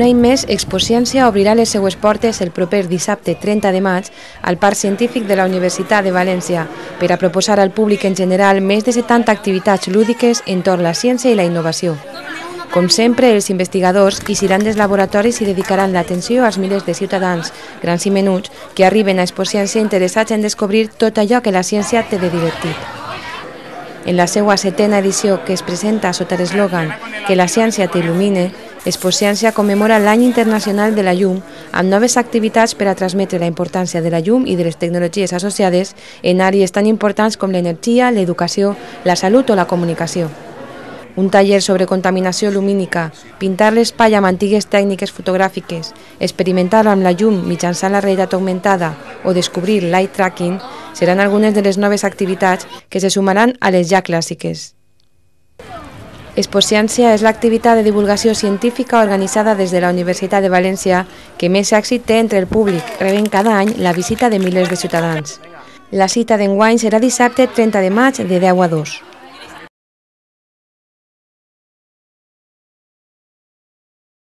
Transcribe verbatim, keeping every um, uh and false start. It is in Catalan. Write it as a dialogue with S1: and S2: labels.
S1: Un any més, Expociència obrirà les seues portes el proper dissabte trenta de maig al Parc Científic de la Universitat de València per a proposar al públic en general més de setanta activitats lúdiques entorn la ciència i la innovació. Com sempre, els investigadors ixiran dels laboratoris i dedicaran l'atenció als milers de ciutadans, grans i menuts, que arriben a Expociència interessats en descobrir tot allò que la ciència té de divertit. En la seva setena edició, que es presenta sota l'eslògan «Que la ciència t'il·lumine», Expociència commemora l'Any Internacional de la Llum amb noves activitats per a transmetre la importància de la llum i de les tecnologies associades en àrees tan importants com l'energia, l'educació, la salut o la comunicació. Un taller sobre contaminació lumínica, pintar l'espai amb antigues tècniques fotogràfiques, experimentar amb la llum mitjançant la realitat augmentada o descobrir l'eye tracking seran algunes de les noves activitats que se sumaran a les ja clàssiques. Expociència és l'activitat de divulgació científica organitzada des de la Universitat de València que més èxit té entre el públic, rebent cada any la visita de milers de ciutadans. La cita d'enguany serà dissabte trenta de maig de deu a dos.